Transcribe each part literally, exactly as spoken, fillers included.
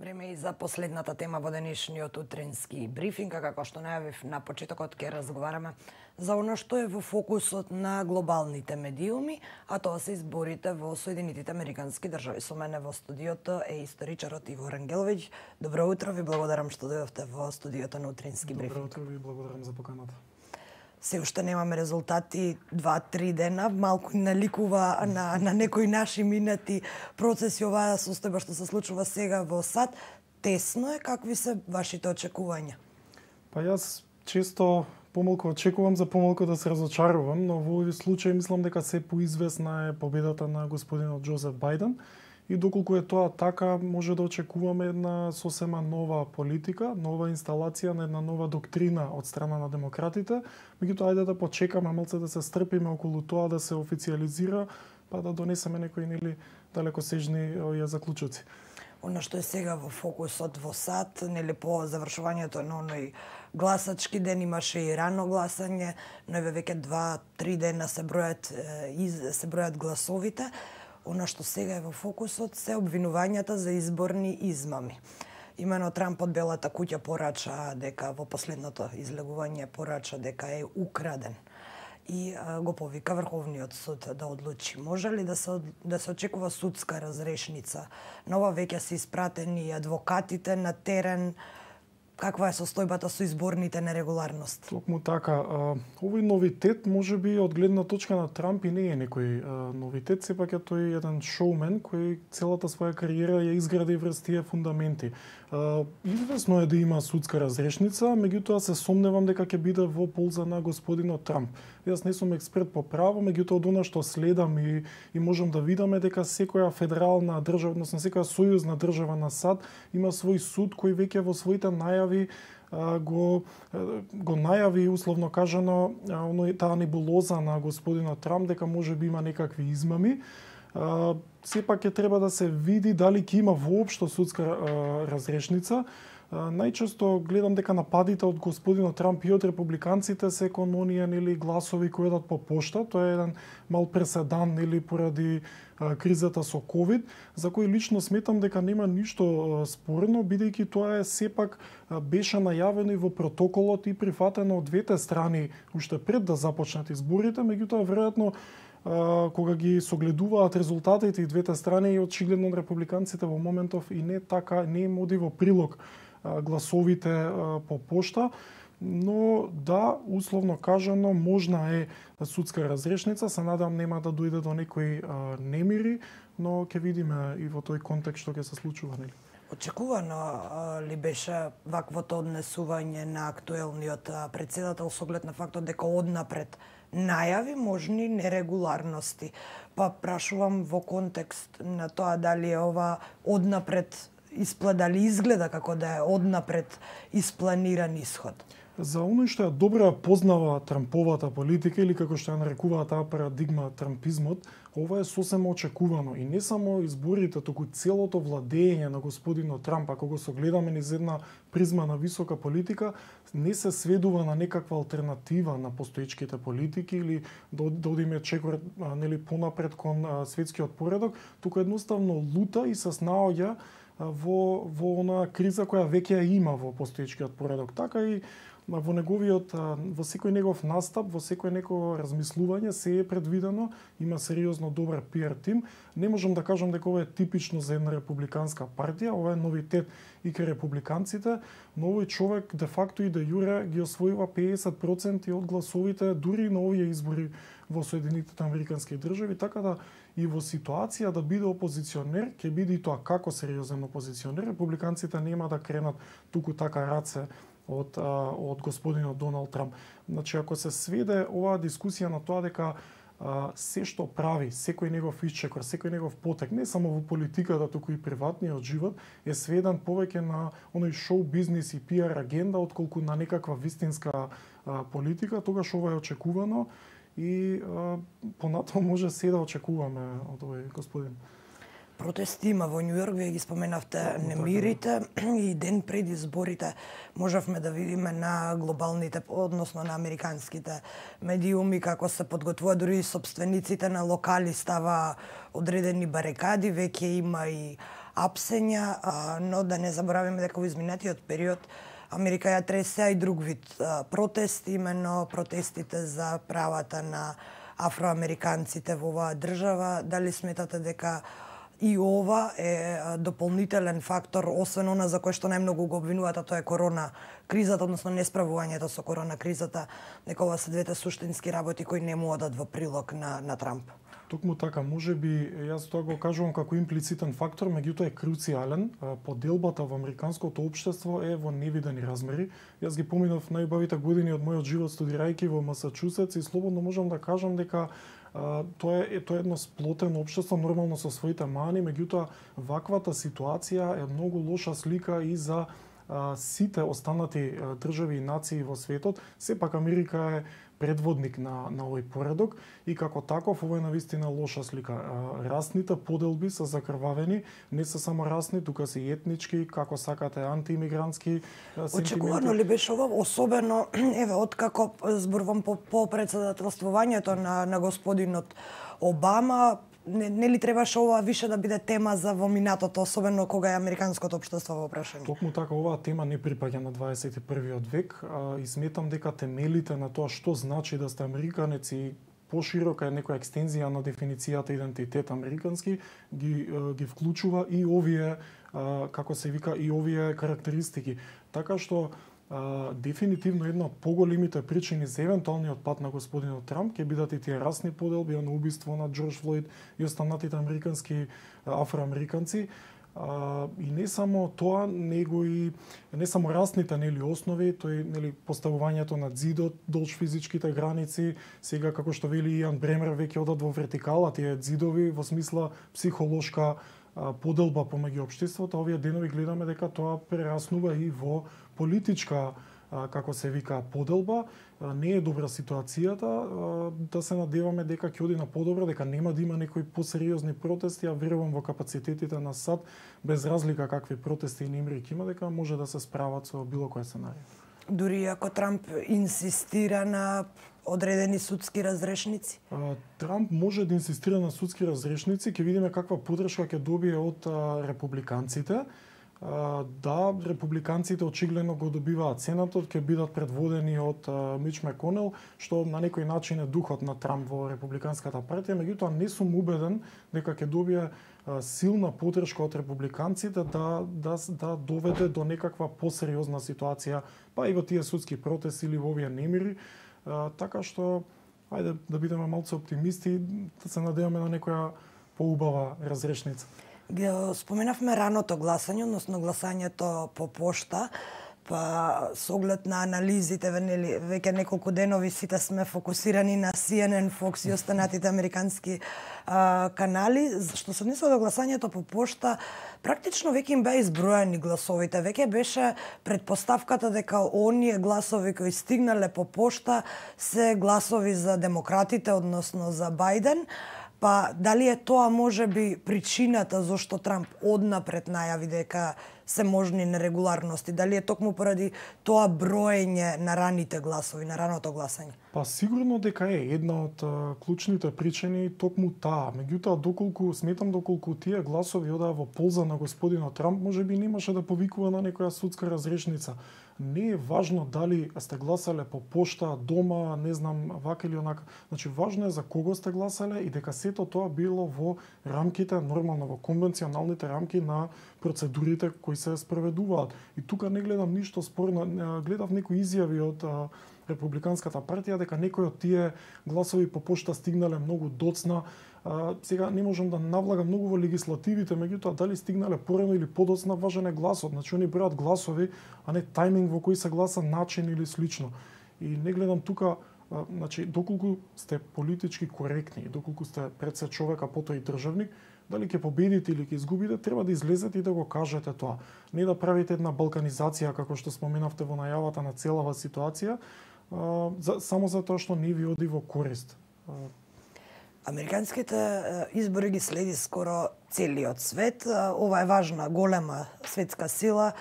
Време и за последната тема во денешниот утрински брифинг, како што најавив на почетокот, ќе разговараме за оно што е во фокусот на глобалните медиуми, а тоа се изборите во Соединетите Американски држави. Со мене во студиото е историчарот Иво Рангеловиќ. Добро утро, ви благодарам што дојдовте во студиото на утрински брифинг. Добро утро, ви благодарам за поканата. Се уште немаме резултати два-три дена, малку наликува на, на некои наши минати процеси оваа состојба што се случува сега во САД. Тесно е, какви се вашите очекувања? Па јас често помалку очекувам за помалку да се разочарувам, но во овој случај мислам дека се поизвестна е победата на господинот Џозеф Бајден. И доколку е тоа така, може да очекуваме една сосема нова политика, нова инсталација на една нова доктрина од страна на демократите. Меѓутоа, ајде да почекаме малце да се стрпиме околу тоа да се официализира, па да донесеме некои нели далекосежни овие заклучоци. Оно што е сега во фокусот во САД, нели по завршувањето на оној гласачки ден имаше и рано гласање, но еве веќе два-три дена се бројат се бројат гласовите. Оно што сега е во фокусот се обвинувањата за изборни измами. Имено Трамп од Белата куќа порача дека во последното излегување порача дека е украден и а, го повика Врховниот суд да одлучи. Може ли да се да се очекува судска разрешница? Нова веќе се испратени адвокатите на терен. Каква е состојбата со изборните нерегуларности? Токму така. Овој новитет можеби од гледна точка на Трамп и не е некој новитет, сепак е тој еден шоумен кој целата своја кариера ја изгради врз тие фундаменти. Известно е да има судска разрешница, меѓутоа се сомневам дека ќе биде во полза на господинот Трамп. Јас не сум експерт по право, меѓутоа од она што следам и, и можам да видам е дека секоја федерална држава, односно секоја сојузна држава на САД има свој суд кој веќе во своите најави го го најави условно кажано оној таа небулоза на господинот Трамп дека може би има некакви измами. Uh, сепак ќе треба да се види дали ќе има воопшто судска uh, разрешница. Uh, најчесто гледам дека нападите од господинот Трамп и од републиканците се кон оние нели гласови кои одат по пошта. Тоа е еден мал преседан нели поради uh, кризата со ковид, за кој лично сметам дека нема ништо uh, спорно, бидејќи тоа е сепак uh, беше најавено и во протоколот и прифатено од двете страни уште пред да започнат изборите, меѓутоа веројатно кога ги согледуваат резултатите и двете страни, и очигледно републиканците во моментов и не така, не им оди во прилог гласовите по пошта, но да, условно кажано, можна е судска разрешница, се надам нема да дојде до некои немири, но ќе видиме и во тој контекст што ќе се случува, нели? Очекувано ли беше ваквото однесување на актуелниот председател со оглед на фактот дека однапред најави можни нерегуларности? Па прашувам во контекст на тоа дали е ова однапред испла, дали изгледа како да е однапред испланиран исход? За оној што ја добро познава Трамповата политика или како што ја нарекуваат таа парадигма трампизмот, ова е сосема очекувано и не само изборите, туку целото владење на господинот Трамп, ако го согледаме низ една призма на висока политика, не се сведува на некаква алтернатива на постоечките политики или да, да одиме чекор нели понапред кон а, светскиот поредок, туку едноставно лута и се снаоѓа во во она криза која веќе ја има во постоечкиот поредок. Така и во неговиот, во секој негов настап, во секој негово размислување се е предвидено, има сериозно добар пиар тим. Не можам да кажам дека ова е типично за една републиканска партија, ова е новитет и кај републиканците, но овој човек де факто и де јуре ги освојува педесет проценти од гласовите дури на овие избори во Соединетите Американски држави, така да и во ситуација да биде опозиционер, ќе биде и тоа како сериозен опозиционер. Републиканците нема да кренат туку така раце од од господинот Доналд Трамп. Значи ако се сведе оваа дискусија на тоа дека а, се што прави, секој негов исчекор, секој негов потек, не само во политиката, туку и приватниот живот, е сведен повеќе на оној шоу бизнис и пиар агенда отколку на некаква вистинска а, политика, тогаш ова е очекувано и а, понатаму може се да очекуваме од овој господин. Протести има во Њу Јорк, вие ги споменавте немирите и ден пред изборите можевме да видиме на глобалните, односно на американските медиуми како се подготвува, дури и собствениците на локали става одредени барикади, веќе има и апсења, но да не забораваме дека во изминатиот период Америка ја тресе и друг вид протести, именно протестите за правата на афроамериканците во оваа држава. Дали сметате дека и ова е дополнителен фактор, освен она за кој што најмногу го обвинуваат, а тоа е корона кризата, односно несправувањето со корона кризата, дека ова се двете суштински работи кои не му одат во прилог на, на Трамп? Токму така, може би, јас тоа го кажувам како имплицитен фактор, меѓутоа е круцијален. Поделбата во американското општество е во невидени размери. Јас ги поминав најубавите години од мојот живот студирајќи во Масачусетс и слободно можам да кажам дека Uh, тоа е тоа е едно сплотено општество, нормално со своите мани, меѓутоа ваквата ситуација е многу лоша слика и за uh, сите останати uh, држави и нации во светот. Сепак Америка е предводник на, на овој поредок и како таков ова е навистина лоша слика. Uh, расните поделби се закрвавени, не се само расни, тука се и етнички, како сакате антиимигрантски uh, сентименти. Очекувано ли беше ова, особено еве откако зборувам по, по председателствувањето на, на господинот Обама, не, не ли требаше ова више да биде тема за во минатото, особено кога е американското општество во прашање? Токму така, оваа тема не припаѓа на дваесет и првиот век, а, и сметам дека темелите на тоа што значи да сте американец и поширока е некоја екстензија на дефиницијата идентитет американски, ги, ги вклучува и овие, како се вика, и овие карактеристики. Така што Uh, дефинитивно една од поголемите причини за евентуалниот пат на господинот Трамп ќе бидат и тие расни поделби, на убиство на Џорџ Флојд и останатите американски афроамериканци. Uh, и не само тоа, него и не само расните нели основи, тој нели поставувањето на ѕидот, долж физичките граници, сега како што вели Иан Бремер веќе одат во вертикала тие ѕидови во смисла психолошка поделба помеѓу општеството. Овие денови гледаме дека тоа прераснува и во политичка, како се вика, поделба. Не е добра ситуацијата, да се надеваме дека ќе оди на подобро, дека нема да има некои посериозни протести, а верувам во капацитетите на САД, без разлика какви протести и немри ќе има, дека може да се справат со било кој сценарij. Дури ако Трамп инсистира на одредени судски разрешници? Трамп може да инсистира на судски разрешници, ќе видиме каква поддршка ќе добие од републиканците. Да, републиканците очигледно го добиваат Сенатот, ќе бидат предводени од Мич Маконел, што на некој начин е духот на Трамп во републиканската партија, меѓутоа не сум убеден дека ќе добие силна поддршка од републиканците да, да, да доведе до некаква посериозна ситуација, па и во тие судски протести или во овие немири. Така што, ајде да бидеме малку оптимисти, да се надеваме на некоја поубава разрешница. Споменавме раното гласање, односно гласањето по пошта, па со оглед на анализите, веќе неколку денови сите сме фокусирани на Си Ен Ен, Fox и останатите американски а, канали. Што се однесува до гласањето по пошта, практично веќе им беа изброени гласовите. Веќе беше предпоставката дека оние гласови кои стигнале по пошта се гласови за демократите, односно за Бајден. Па дали е тоа можеби причината зашто Трамп однапред најави дека се можни нерегуларности? Дали е токму поради тоа броење на раните гласови, на раното гласање? Па сигурно дека е една од а, клучните причини токму таа. Меѓутоа, доколку сметам доколку тие гласови одаа во полза на господинот Трамп, можеби немаше да повикува на некоја судска разрешница. Не е важно дали сте гласале по пошта, дома, не знам, вака или онака. Значи, важно е за кого сте гласале и дека сето тоа било во рамките, нормално во конвенционалните рамки на процедурите кои се спроведуваат. И тука не гледам ништо спорно, гледав некои изјави од а, републиканската партија дека некои од тие гласови по пошта стигнале многу доцна. А, сега не можам да навлагам многу во легислативите, меѓутоа дали стигнале порано или подоцна, важен е гласот. Значи они бројат гласови, а не тајминг во кој се гласа, начин или слично. И не гледам тука, а, значи доколку сте политички коректни, доколку сте пред се човек, а потоа и државник, дали ќе победите или ќе изгубите, треба да излезете и да го кажете тоа. Не да правите една балканизација, како што споменавте во најавата на целава ситуација, а, за, само за тоа што не ви оди во корист. Американските избори ги следи скоро целиот свет. Ова е важна, голема светска сила,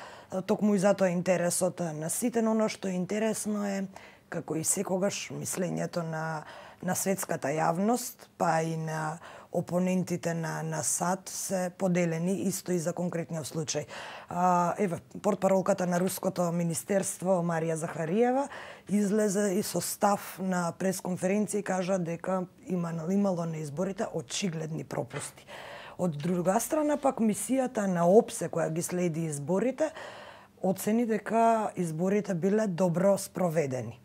токму и затоа интересот на сите, но оно што е интересно е, како и секогаш, мислењето на, на светската јавност, па и на опонентите на на САД се поделени исто и за конкретниот случај. А, еве, портпаролката на руското министерство Марија Захариева излезе и со став на пресконференција и кажа дека има имало на изборите очигледни пропусти. Од друга страна пак мисијата на ОПСЕ која ги следи изборите оцени дека изборите биле добро спроведени.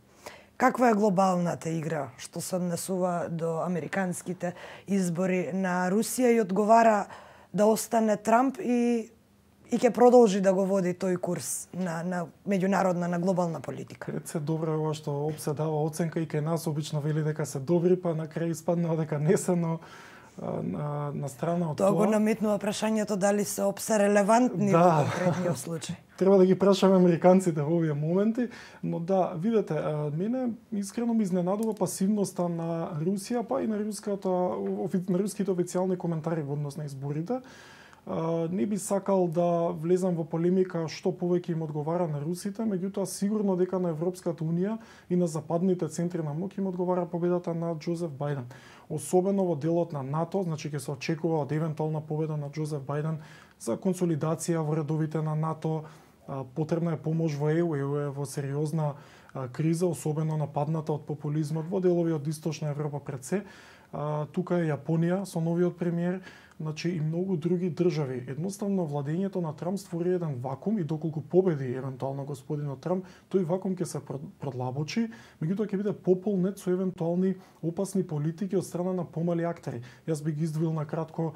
Каква е глобалната игра што се однесува до американските избори на Русија и одговара да остане Трамп и и ќе продолжи да го води тој курс на на меѓународна, на глобална политика? Пред се добро е ова што ОПСЕ дава оценка и кај нас обично вели дека се добри, па на крај испаднува дека не се, но на, на страна од тоа... Тоа го тоа... наметнува прашањето дали се ОПСЕ релевантни да. Во конкретниот случај. Треба да ги прашаме американците во овие моменти, но да, видете, мене искрено ми изненадува пасивноста на Русија, па и на руската на руските официјални коментари во однос на изборите. Не би сакал да влезам во полемика што повеќе им одговара на русите, меѓутоа сигурно дека на Европската унија и на западните центри на моќ им одговара победата на Џозеф Бајден. Особено во делот на НАТО, значи ќе се очекува од евентуална победа на Џозеф Бајден за консолидација во редовите на НАТО. Потребна е помош во ЕУ, ЕУ е во сериозна криза, особено нападната од популизмот во делови од Источна Европа пред се. Тука е Јапонија со новиот премиер, значи и многу други држави. Едноставно владењето на Трамп створи еден вакуум и доколку победи евентуално господинот Трамп, тој вакуум ќе се продлабочи, меѓутоа ќе биде пополнет со евентуални опасни политики од страна на помали актери. Јас би ги издвоил на кратко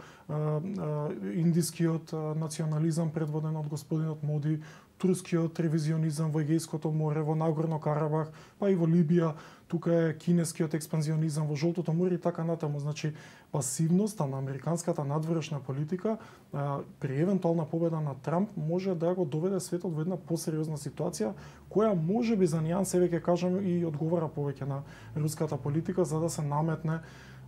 индискиот национализам предводен од господинот Моди, турскиот ревизионизам во Егејското море, во Нагорно Карабах, па и во Либија, тука е кинескиот експанзионизам во Жолтото море и така натаму. Значи, пасивноста на американската надворешна политика а, при евентуална победа на Трамп може да го доведе светот во една посериозна ситуација, која може би за нијансе веќе кажам и одговара повеќе на руската политика за да се наметне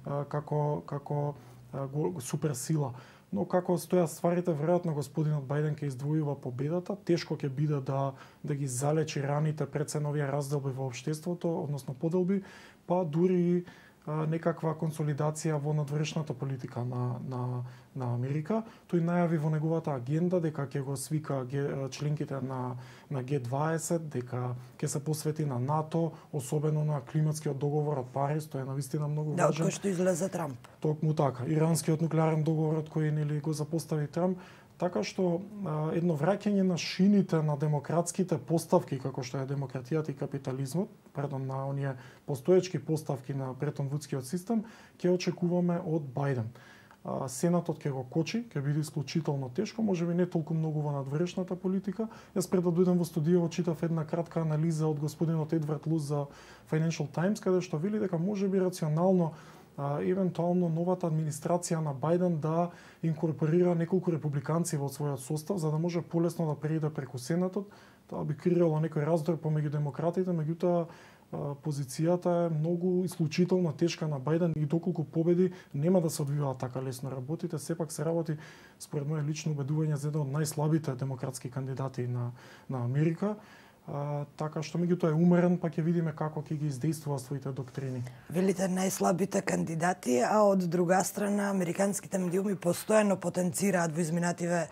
а, како како а, го, суперсила. Но како стојат стварите, веројатно господинот Бајден ќе издвојува победата, тешко ќе биде да да ги залечи раните пред се новија разделби во општеството, односно поделби, па дури а, некаква консолидација во надворешната политика на на на Америка. Тој најави во неговата агенда дека ќе го свика членките на на Г дваесет, дека ќе се посвети на НАТО, особено на климатскиот договор од Париз, тоа е навистина многу да, важен. Да, кој што излезе Трамп. Токму така, иранскиот нуклеарен договор од кој нели го запостави Трамп, така што а, едно враќање на шините на демократските поставки како што е демократијата и капитализмот, предон на оние постоечки поставки на Бретон-Вудскиот систем, ќе очекуваме од Бајден. Сенатот ќе го кочи, ќе биде исклучително тешко, можеби не толку многу во надворешната политика. Јас пред да дојдам во студијава читав една кратка анализа од господинот Едвард Луз за Financial Times, каде што вели дека можеби рационално а, евентуално новата администрација на Бајден да инкорпорира неколку републиканци во својот состав, за да може полесно да преиде преку Сенатот. Тоа би креирало некој раздор помеѓу демократите, меѓутоа позицијата е многу исклучително тешка на Бајден и доколку победи нема да се одвиваат така лесно работите, сепак се работи според моје лично убедување за еден од најслабите демократски кандидати на на Америка. А, така што меѓутоа е умерен, па ќе видиме како ќе ги издействува своите доктрини. Велите најслабите кандидати, а од друга страна американските медиуми постојано потенцираат во изминативе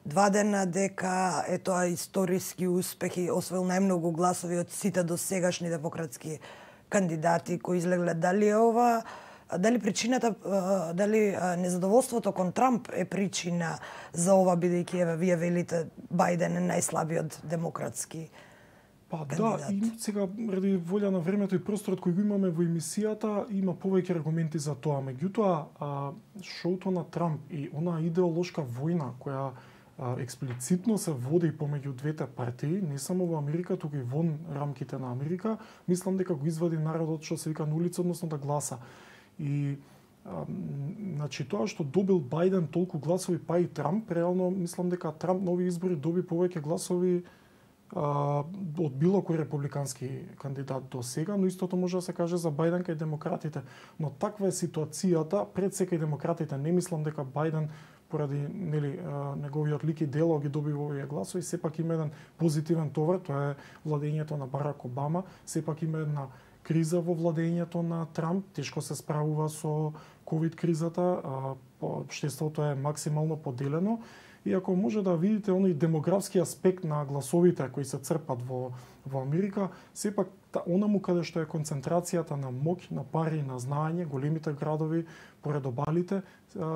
два дена дека е тоа историски успех и освоил најмногу гласови од сите досегашни демократски кандидати кои излегле. Дали е ова, дали причината, дали незадоволството кон Трамп е причина за ова, бидејќи еве вие велите Бајден е најслабиот демократски Па кандидат. Да, и сега ради волја на времето и просторот кој го имаме во емисијата, има повеќе аргументи за тоа. Меѓутоа, шоуто на Трамп и она идеолошка војна која експлицитно се води помеѓу двете партии, не само во Америка, туку и вон рамките на Америка, мислам дека го извади народот што се вика на улица, односно да гласа. И а, значи тоа што добил Бајден толку гласови, па и Трамп, реално мислам дека Трамп на овие избори доби повеќе гласови а, од било кој републикански кандидат до сега, но истото може да се каже за Бајден кај демократите. Но таква е ситуацијата, пред секај демократите, не мислам дека Бајден поради нели неговиот лик и дело ги добива овие гласови, сепак има еден позитивен товар, тоа е владењето на Барак Обама, сепак има една криза во владењето на Трамп, тешко се справува со ковид кризата, општеството е максимално поделено. И ако може да видите оној демографски аспект на гласовите кои се црпат во во Америка, сепак онаму каде што е концентрацијата на моќ, на пари, на знаење, големите градови поред обалите,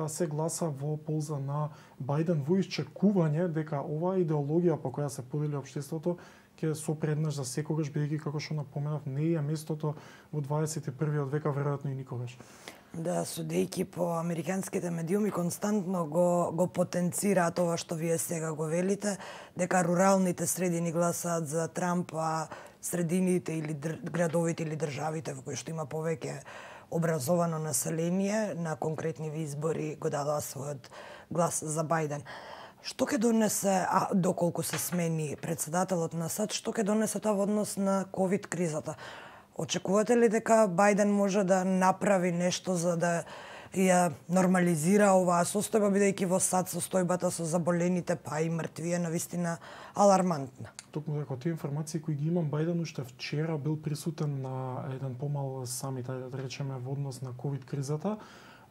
се гласа во полза на Бајден во исчекување дека оваа идеологија по која се подели општеството ќе сопреднаш за секогаш, бидејќи како што напоменав, не е местото во дваесет и првиот век, веројатно и никогаш. Да, судејќи по американските медиуми, константно го, го потенцираат ова што вие сега го велите, дека руралните средини гласаат за Трамп, а средините или др... градовите или државите во кои што има повеќе образовано население на конкретни избори го дадоа својот глас за Бајден. Што ќе донесе, а доколку се смени председателот на САД, што ќе донесе тоа во однос на ковид кризата? Очекувате ли дека Бајден може да направи нешто за да ја нормализира оваа состојба, бидејќи во САД состојбата со заболените па и мртви е навистина алармантна? Токму дека тие информации кои ги имам, Бајден уште вчера бил присутен на еден помал самит, ајде да речеме, во однос на ковид кризата.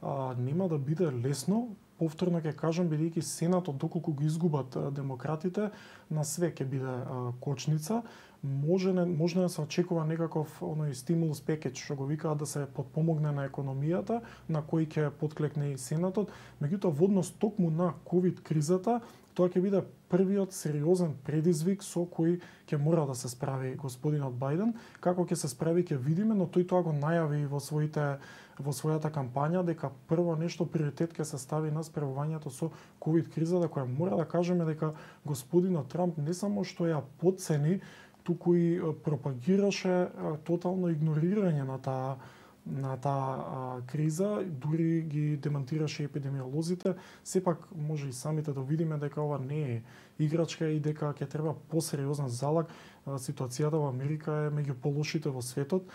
А, нема да биде лесно, повторно ќе кажам, бидејќи Сенатот, доколку го изгубат демократите, на све ќе биде а, кочница. Може не, може да се очекува некаков оној стимулус пекеж, што го викаат, да се подпомогне на економијата, на кој ќе подклекне и Сенатот. Меѓутоа, во однос токму на ковид кризата, тоа ќе биде првиот сериозен предизвик со кој ќе мора да се справи господинот Бајден. Како ќе се справи ќе видиме, но тој тоа го најави во своите во својата кампања дека прво нешто приоритет ќе се стави на справувањето со ковид кризата, која мора да кажеме дека господинот Трамп не само што ја потцени, туку и пропагираше тотално игнорирање на таа на таа криза, дури ги демонтираше епидемиолозите. Сепак може и самите да видиме дека ова не е играчка и дека ќе треба посериозен залаг. Ситуацијата во Америка е меѓу полошите во светот.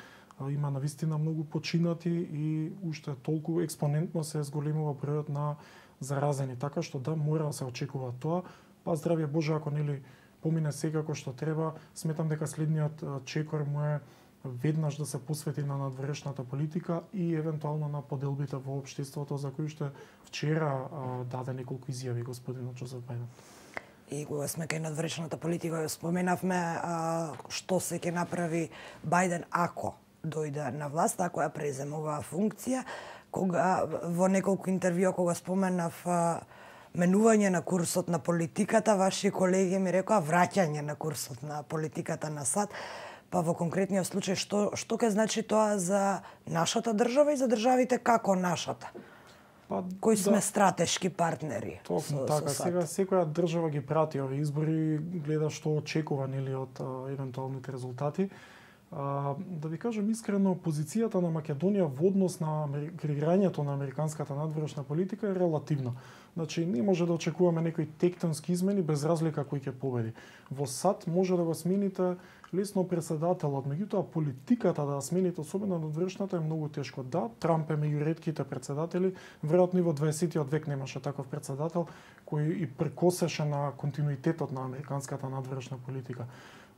Има навистина многу починати и уште толку експонентно се зголемува бројот на заразени, така што да, мора да се очекува тоа. Па здравје Боже, ако нели помине секако што треба, сметам дека следниот чекор му е веднаш да се посвети на надворешната политика и евентуално на поделбите во општеството, за кои што вчера а, даде неколку изјави господинот Џозеф Бајден. И кога сме кај надворешната политика, споменавме а, што се ќе направи Бајден ако дојде на власт, ако ја преземе оваа функција. Кога во неколку интервјуа кога споменав а, менување на курсот на политиката, ваши колеги ми рекоа враќање на курсот на политиката на САД. Па во конкретниот случај, што, што ќе значи тоа за нашата држава и за државите како нашата? Па, кои да, сме стратешки партнери. Токму со, така, со сега секоја држава ги прати овие избори, гледа што очекува нели од а, евентуалните резултати. А, да ви кажам искрено, позицијата на Македонија во однос на креирањето на американската надворешна политика е релативна. Значи, не може да очекуваме некои тектонски измени без разлика кој ќе победи. Во САД може да го смените лесно председателот, меѓутоа политиката да смените, особено надворешната, е многу тешко. Да, Трамп е меѓу ретките председатели, веројатно и во дваесетиот век немаше таков председател кој и прекосеше на континуитетот на американската надворешна политика.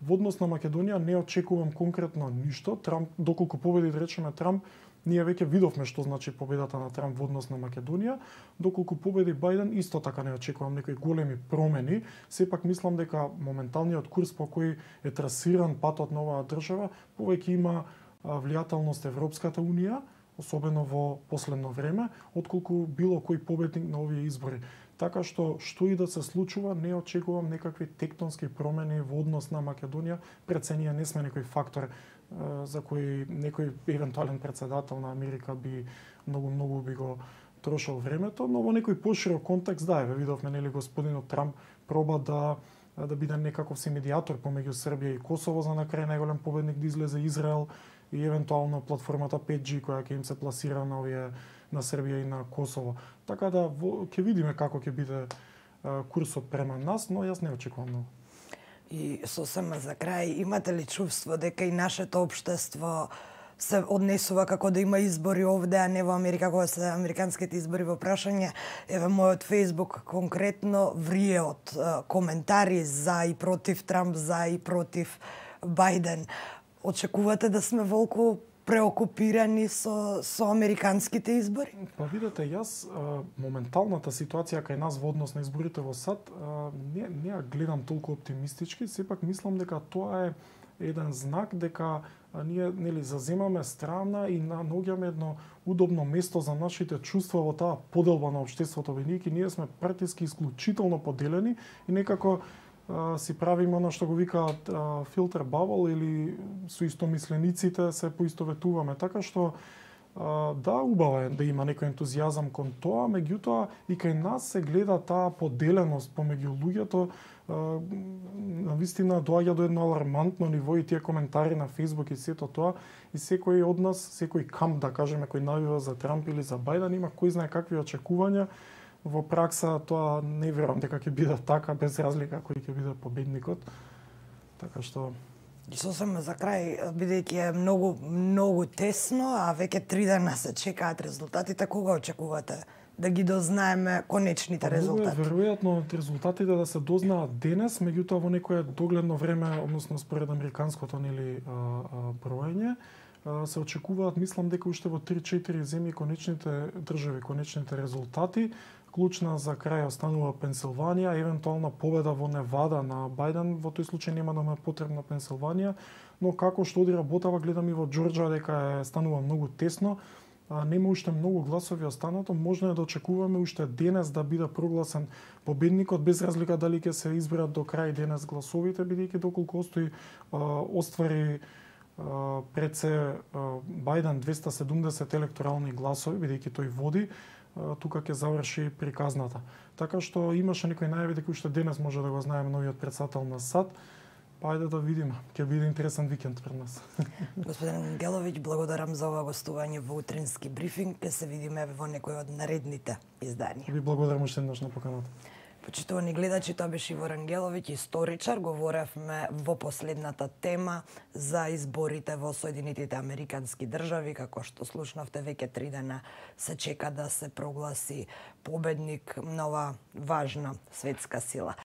Во однос на Македонија не очекувам конкретно ништо. Трамп, доколку победи, да речеме Трамп, ние веќе видовме што значи победата на Трамп во однос на Македонија. Доколку победи Бајден, исто така не очекувам некои големи промени. Сепак мислам дека моменталниот курс по кој е трасиран патот на оваа држава, повеќе има влијателност Европската унија, особено во последно време, отколку било кој победник на овие избори. Така што, што и да се случува, не очекувам некакви тектонски промени во однос на Македонија. Пред се ние не сме некој фактор за кој некој евентуален председател на Америка би многу многу би го трошил времето, но во некој поширок контекст, да, еве видовме нели господинот Трамп проба да да биде некаков си медијатор помеѓу Србија и Косово, за на крај најголем победник да излезе Израел и евентуално платформата пет джи која ќе им се пласира на овие на Србија и на Косово. Така да ќе видиме како ќе биде а, курсот према нас, но јас не очекувам многу. И сосема за крај, имате ли чувство дека и нашето општество се однесува како да има избори овде, а не во Америка, кога се американските избори во прашање? Еве, мојот Фејсбук конкретно врие од а, коментари за и против Трамп, за и против Бајден. Очекувате да сме волку преокупирани со со американските избори? Па видете, јас а, моменталната ситуација кај нас во однос на изборите во САД а, не не ја гледам толку оптимистички, сепак мислам дека тоа е еден знак дека а, ние нели заземаме страна и наоѓаме едно удобно место за нашите чувства во таа поделба на општеството, бидејќи ние сме партиски исклучително поделени и некако а, си правиме она што го викаат филтер бабл или со истомислениците се поистоветуваме, така што а, да, убаво е да има некој ентузијазам кон тоа, меѓутоа и кај нас се гледа таа поделеност помеѓу луѓето, на вистина доаѓа до едно алармантно ниво и тие коментари на Facebook и сето тоа, и секој од нас, секој камп, да кажеме, кој навива за Трамп или за Бајден, има кој знае какви очекувања. Во пракса тоа не верувам дека ќе биде така, без разлика кој ќе биде победникот. Така што И сосема за крај, бидејќи е многу многу тесно, а веќе три дена се чекаат резултатите, кога очекувате да ги дознаеме конечните резултати? Многу е веројатно резултатите да се дознаат денес, меѓутоа во некое догледно време, односно според американското нели броење, се очекуваат, мислам дека уште во три-четири земји конечните држави, конечните резултати. Клучна за крај останува Пенсилванија, евентуална победа во Невада на Бајден, во тој случај нема да му е потребна Пенсилванија, но како што оди работава, гледам и во Џорџа дека е станува многу тесно. А, нема уште многу гласови останато, можно е да очекуваме уште денес да биде прогласен победникот, без разлика дали ќе се изберат до крај денес гласовите, бидејќи доколку остои а, оствари а, пред се а, Бајден двеста седумдесет електорални гласови, бидејќи тој води, а, тука ќе заврши приказната. Така што имаше некои најави дека уште денес може да го знаеме новиот претседател на САД. Па ајде да видиме. Ќе биде интересен викенд пред нас. Господин Ангеловиќ, благодарам за ова гостување во утрински брифинг. Ке се видиме во некој од наредните изданија. Ви благодарам уште еднаш на поканата. Почитувани гледачи, тоа беше Ивор Ангеловиќ, историчар. Говоревме во последната тема за изборите во Соединетите Американски држави. Како што слушнавте, веќе три дена се чека да се прогласи победник на ова важна светска сила.